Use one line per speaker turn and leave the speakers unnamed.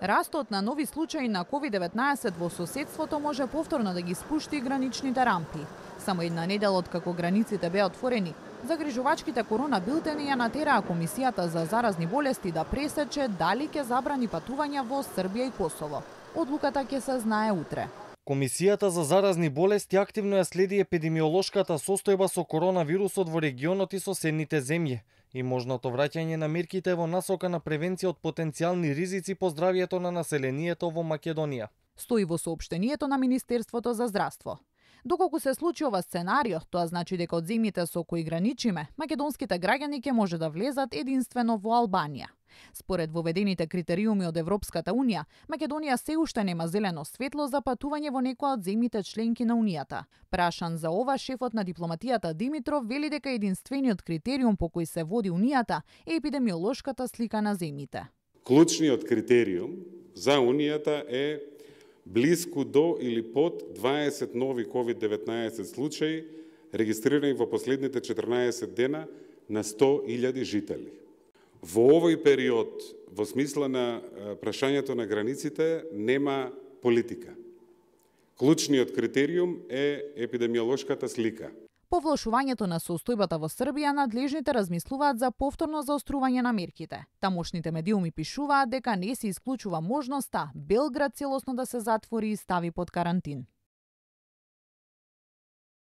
Растот на нови случаи на COVID-19 во соседството може повторно да ги спушти граничните рампи. Само една недела откако границите беа отворени, загрижувачките корона билтени ја натераа Комисијата за заразни болести да пресече дали ќе забрани патувања во Србија и Косово. Одлуката ќе се знае утре.
Комисијата за заразни болести активно ја следи епидемиолошката состојба со коронавирусот во регионот и соседните земји и можното враќање на мерките во насока на превенција од потенцијални ризици по здравјето на населението во Македонија.
Стои во соопштението на Министерството за здравство. Доколку се случи ова сценарио, тоа значи дека од земјите со кои граничиме, македонските граѓани ќе може да влезат единствено во Албанија. Според воведените критериуми од Европската Унија, Македонија се уште нема зелено светло за патување во некоја од земјите членки на Унијата. Прашан за ова, шефот на дипломатијата Димитров вели дека единствениот критериум по кој се води Унијата е епидемиолошката слика на земјите.
Клучниот критериум за Унијата е блиску до или под 20 нови COVID-19 случаи регистрирани во последните 14 дена на 100.000 жители. Во овој период, во смисла на прашањето на границите, нема политика. Клучниот критериум е епидемиолошката слика.
По влошувањето на состојбата во Србија, надлежните размислуваат за повторно заострување на мерките. Тамошните медиуми пишуваат дека не се исклучува можноста Белград целосно да се затвори и стави под карантин.